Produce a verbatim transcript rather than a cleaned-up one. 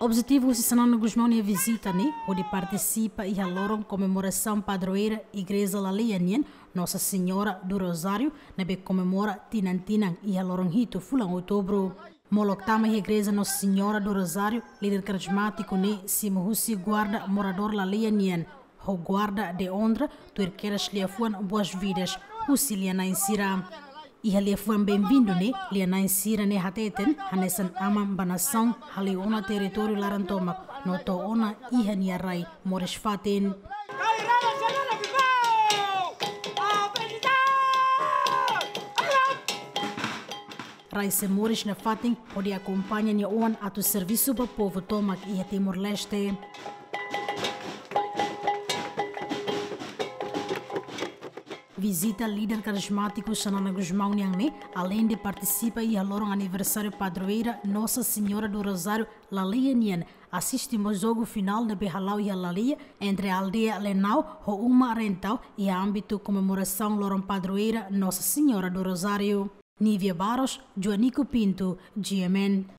Objetivu husi Xanana Gusmão nia vizita ne'e hodi partisipa iha loron komemorasaun padroeira Igreja Laleia nian, Nossa Senhora do Rosário, ne'ebé komemora tinan-tinan iha loron hitu fulan Outubru. Molok tama iha Igreja Nossa Senhora do Rosário, líder karizmátiku ne'e simu husi guarda moradór Laleia nian, ho guarda de onra, tuir kedas liafuan boas-vindas husi lia-na'in sira. Iha liafuan benvindu ne'e, lia-na'in sira ne'e hateten hanesan aman ba nasaun, hale'u ona territóriu laran tomak, no to'o ona iha nia rai moris fatin. Rai sei moris nafatin hodi akompaña nia oan atu servisu ba povu tomak iha Timor-Leste. Vizita líder karizmátiku Xanana Gusmão nian ne'e, aleinde partisipa iha loron aniversáriu padroeira Nossa Senhora do Rosário Laleia nian, asiste mós jogu finál ne'ebé hala'o iha Laleia entre aldeia Lenau ho Uma Rentau iha ámbitu komemorasaun loron padroeira Nossa Senhora do Rosário. Nívia Barros, Joanico Pinto, G M N.